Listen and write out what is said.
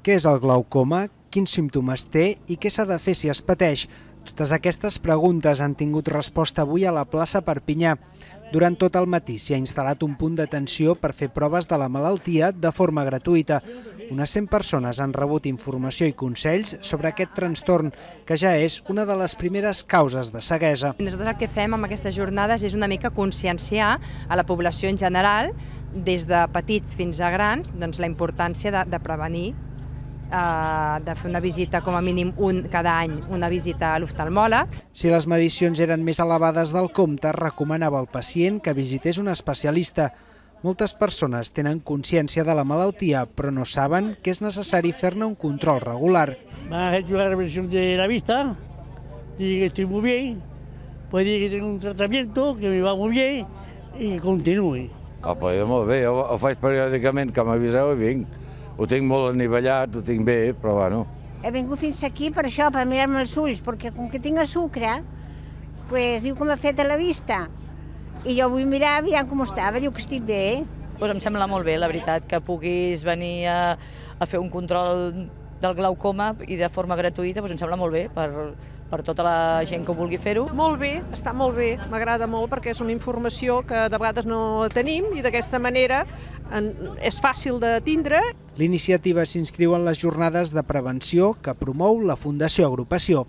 Què és el glaucoma, quins símptomes té i què s'ha de fer si es pateix? Totes aquestes preguntes han tingut resposta avui a la plaça Perpinyà. Durant tot el matí s'hi ha instal·lat un punt d'atenció per fer proves de la malaltia de forma gratuïta. Unes 100 persones han rebut informació i consells sobre aquest trastorn, que ja és una de les primeres causes de ceguesa. Nosaltres el que fem amb aquestes jornades és una mica conscienciar a la població en general, des de petits fins a grans, doncs la importància de prevenir, de fer una visita com a mínim cada any, una visita a l'oftalmòleg. Si les medicions eren més elevades del compte, recomanava al pacient que visités un especialista. Moltes persones tenen consciència de la malaltia, però no saben que és necessari fer-ne un control regular. Me hecho la revisión de la vista, dice que estoy muy bien, pues dice que tengo un tratamiento que me va muy bien i que continuï. Apa, molt bé, ho faig periòdicament, que m'aviseu i vinc. Ho tinc molt anivellat, ho tinc bé, però bueno. He vingut fins aquí per això, per mirar-me els ulls, perquè com que tinc sucre, pues diu que m'ha fet a la vista. I jo vull mirar, aviam com estava, diu que estic bé. Pues em sembla molt bé, la veritat, que puguis venir a fer un control del glaucoma i de forma gratuïta, doncs em sembla molt bé per tota la gent que vulgui fer-ho. Molt bé, està molt bé, m'agrada molt perquè és una informació que de vegades no tenim i d'aquesta manera és fàcil de tindre. L'iniciativa s'inscriu en les jornades de prevenció que promou la Fundació Agrupació.